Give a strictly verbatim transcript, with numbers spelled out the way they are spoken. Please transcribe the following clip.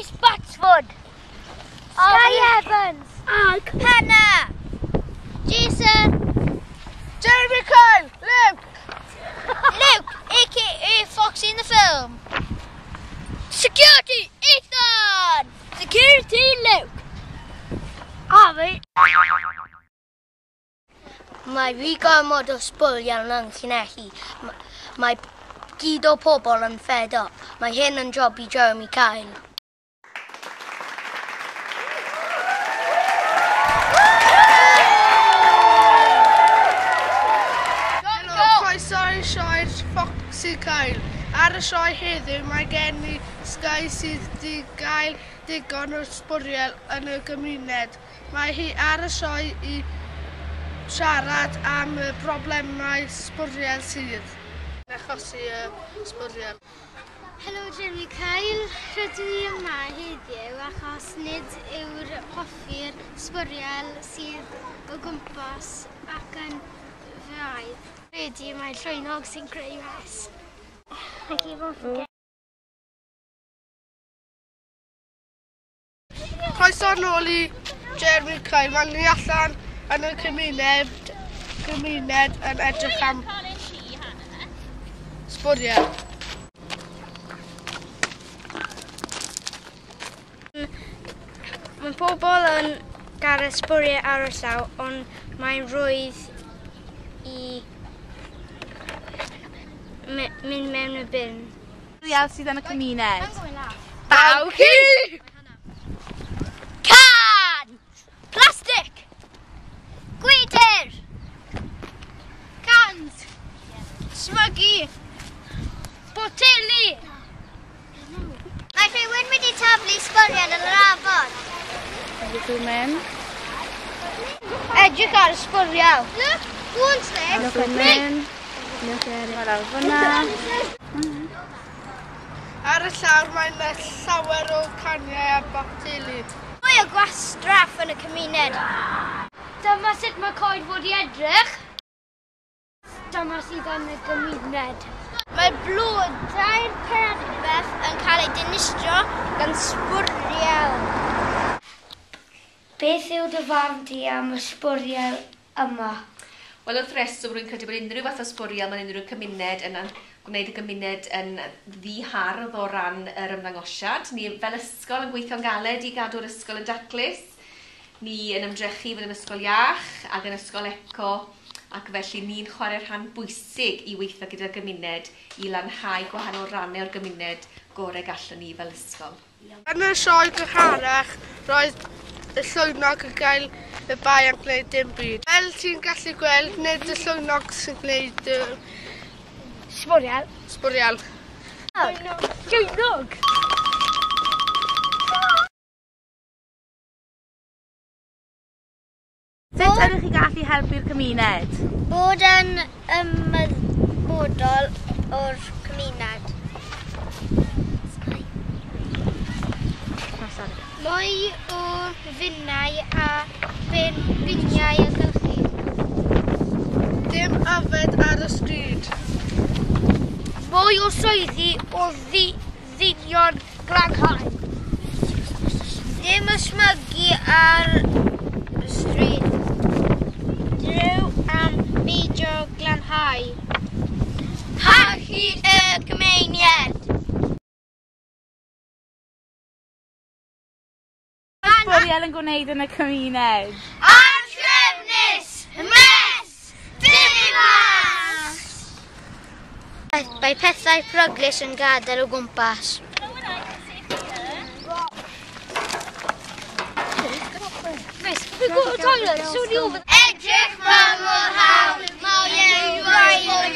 Rhys Batsford. Sky Evans. Ag. Hannah. Jason. Jeremy Kyle. Luke. Luke, A K A Foxy in the film. Security, Ethan. Security, Luke. Harvey. Mae fi gormod o sbwriel yn Llanelli. Mae gyd o pobl yn fed up. Mae hyn yn job i Jeremy Kyle. Helo, croeso i sioe Foxy Kyle. Ar y sioe heddiw mae gen i Sky sydd wedi gael digon o sbwriel yn y gymuned. Mae hi ar y sioe i siarad am y broblemau sbwriel sydd yn achosi y sbwriel. Helo Jeremy Kyle, rydw i yma heddiw achos nid yw'r hoffi'r sbwriel sydd o gwmpas ac yn fy aidd. Credu mae llwynog sy'n creu mess. Croeso nôl i Jeremy Kyle. Mae'n ni allan yn y cymuned, cymuned yn edrych am sbwriel. Mae pobl yn gael sbwriel ar y llaw, ond mae'n rhwydd i mynd mewn y bin. Sbwriel sydd yn y cymuned. Baw ci! Can! Plastic! Gwydr! Cans! Smygu! Boteli! Mae rhywun wedi taflu sbwriel yn yr afon. Ydych mynd? Edrych ar y sbwriel. Look, one's there. Look at mynd. Look at it. Lawr fyna. Ar y llawr mae yna llawer o caniau a boteli. Mwy o gwastraff yn y cymuned. Dyma sut mae coed fod i edrych. Dyma sydd yn y gymuned. Mae blodau'r perfedd yn cael eu dinistrio gan sbwriel. Beth yw dy farn di am y sbwriel yma? Wel, wrth reswm, rwy'n credu bod unrhyw fath o sbwriel mewn unrhyw cymuned yn gwneud y gymuned yn ddihardd o ran yr ymddangosiad. Ni fel ysgol yn gweithio'n galed i gadw'r ysgol yn daclus. Ni yn ymdrechu fod yn ysgol iach ac yn ysgol eco, ac felly ni'n chwarae rhan bwysig i weithio gyda'r gymuned i lanhau gwahanol rannau o'r gymuned gorau gallwn ni fel ysgol. Yn y sioe gynharach, roedd y llwynog yn cael y bai am gwneud dim byd. Fel ti'n gallu gweld, nid y llwynog sy'n gwneud y sbwriel. Sbwriel. Llwynog! Sut ydych chi gallu helpu'r cymuned? Bod yn ymwybodol o'r cymuned. Mwy o finnau a bin, biniau a gylchu. Dim yfed ar y stryd. Mwy o swyddi o ddi, ddynion glanhau. Dim ysmygu ar y stryd. Drew am beidio glanhau. Parchu y cymuned. Sbwriel yn gwneud yn y cymuned. Anhrefnus! Mess! Diflas! Mae pethau peryglus yn gadael o gwmpas. Edrych ma mor hawdd, mae e'n rhaid yn